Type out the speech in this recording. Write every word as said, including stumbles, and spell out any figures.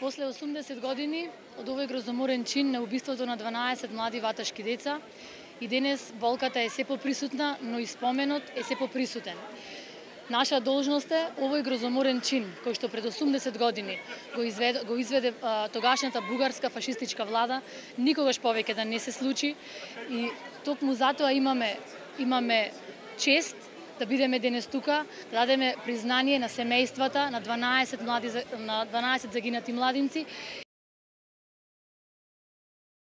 После осумдесет години од овој грозоморен чин на убиството на дванаесет млади ваташки деца, и денес болката е се поприсутна, но и споменот е се поприсутен. Наша должност е овој грозоморен чин, кој што пред осумдесет години го изведе, го изведе а, тогашната бугарска фашистичка влада, никогаш повеќе да не се случи, и токму затоа имаме имаме чест да бидеме денес тука, да дадеме признание на семејствата на дванаесет млади на дванаесет загинати младинци